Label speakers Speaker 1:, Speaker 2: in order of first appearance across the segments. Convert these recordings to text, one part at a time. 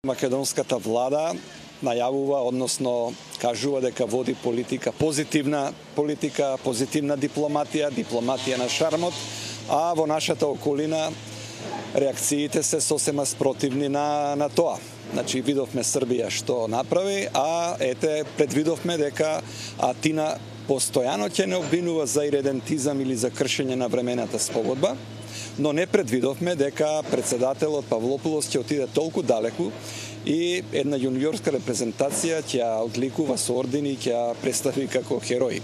Speaker 1: Македонската влада најавува, односно кажува дека води позитивна дипломатија на шармот, а во нашата околина реакциите се сосема спротивни на тоа. Значи, видовме Србија што направи, а предвидовме дека Атина постојано ќе не обвинува за иредентизам или за кршење на времената спогодба, но не предвидовме дека председателот Павлопулос ќе отиде толку далеку и една јуниорска репрезентација ќе одликува со ордени и ќе представи како херои.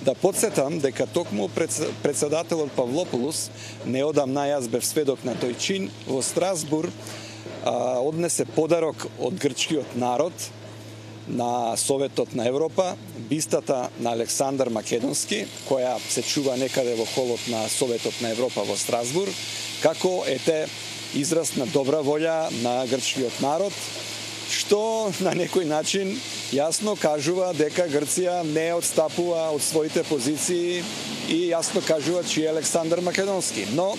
Speaker 1: Да подсетам дека токму председателот Павлопулос, неодамна јас бев сведок на тој чин, во Страсбург однесе подарок од грчкиот народ на Советот на Европа, бистата на Александар Македонски, која се чува некаде во холот на Советот на Европа во Страсбург, како израз на добра волја на грчкиот народ, што на некој начин јасно кажува дека Грција не отстапува од своите позиции и јасно кажува чиј е Александар Македонски. Но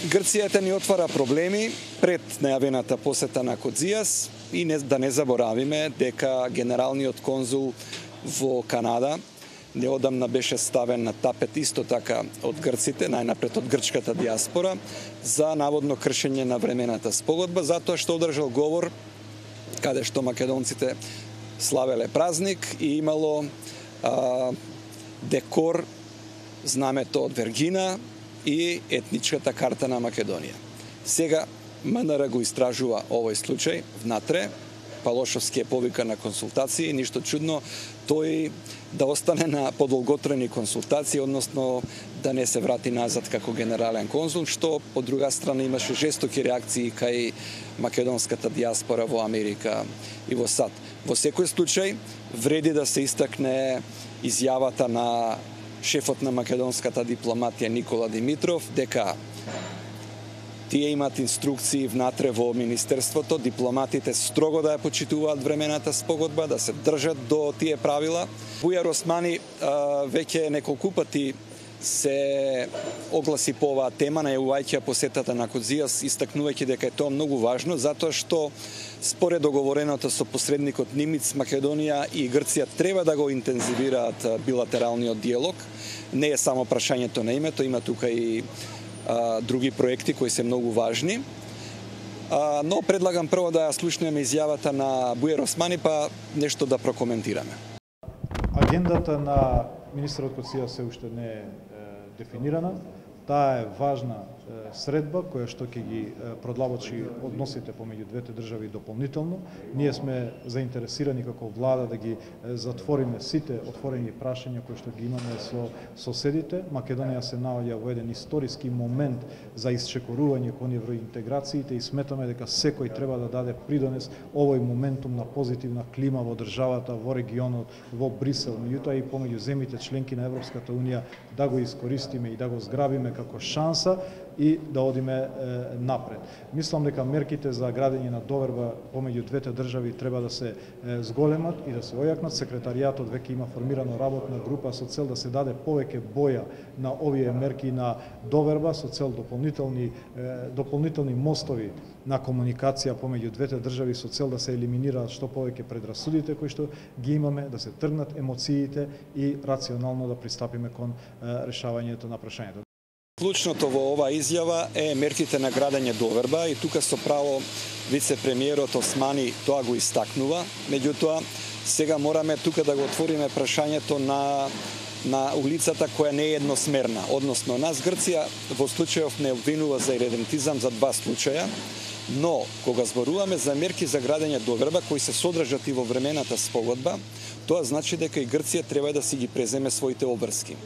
Speaker 1: Грција ни отвара проблеми пред најавената посета на Кодзијас и да не заборавиме дека генералниот конзул во Канада неодамна беше ставен на тапет исто така од грците, најнапред од грчката диаспора, за наводно кршење на времената спогодба, затоа што одржал говор каде што македонците славеле празник и имало декор, знамето од Вергина и етничката карта на Македонија. Сега МНР го истражува овој случај внатре, Палошовски е повика на консултации, ништо чудно тој да остане на подолготрени консултации, односно да не се врати назад како генерален конзул, што од друга страна имаше жестоки реакции кај македонската диаспора во Америка и во САД. Во секој случај вреди да се истакне изјавата на шефот на македонската дипломатија Никола Димитров дека тие имаат инструкции внатре во Министерството, дипломатите строго да ја почитуваат времената спогодба, да се држат до тие правила. Бујар Османи веќе неколку пати се огласи по оваа тема, најавувајќи посетата на Кодзијас, истакнувајќи дека е тоа многу важно, затоа што според договореното со посредникот Нимиц, Македонија и Грција треба да го интензивираат билатералниот диалог. Не е само прашањето на името, има тука и други проекти кои се многу важни. Но предлагам прво да ја слушнеме изјавата на Бујар Османи, па нешто да прокоментираме.
Speaker 2: Агендата на министерот Кодзијас се уште не е дефинирана. Таа е важна средба која што ќе ги продлабочи односите помеѓу двете држави дополнително. Ние сме заинтересирани како влада да ги затвориме сите отворени прашања кои што ги имаме со соседите. Македонија се наоѓа во еден историски момент за исчекорување кон евроинтеграциите и сметаме дека секој треба да даде придонес овој моментум на позитивна клима во државата, во регионот, во Брисел, меѓутоа и помеѓу земјите членки на Европската унија да го искористиме и да го зграбиме како шанса и да одиме напред. Мислам дека мерките за градење на доверба помеѓу двете држави треба да се зголемат и да се ојакнат. Секретаријатот веќе има формирана работна група со цел да се даде повеќе боја на овие мерки на доверба, со цел дополнителни мостови на комуникација помеѓу двете држави, со цел да се елиминираат што повеќе предрасудите кои што ги имаме, да се тргнат емоциите и рационално да пристапиме кон решавањето на прашањето.
Speaker 1: Клучното во оваа изјава е мерките на градење доверба и тука со право вице-премиерот Османи тоа го истакнува. Меѓутоа, сега мораме тука да го отвориме прашањето на улицата која не е едносмерна. Односно, нас Грција во случајов не обвинува за иредентизам за два случаја, но кога зборуваме за мерки за градење доверба кои се содржат и во времената спогодба, тоа значи дека и Грција треба да си ги преземе своите обврски.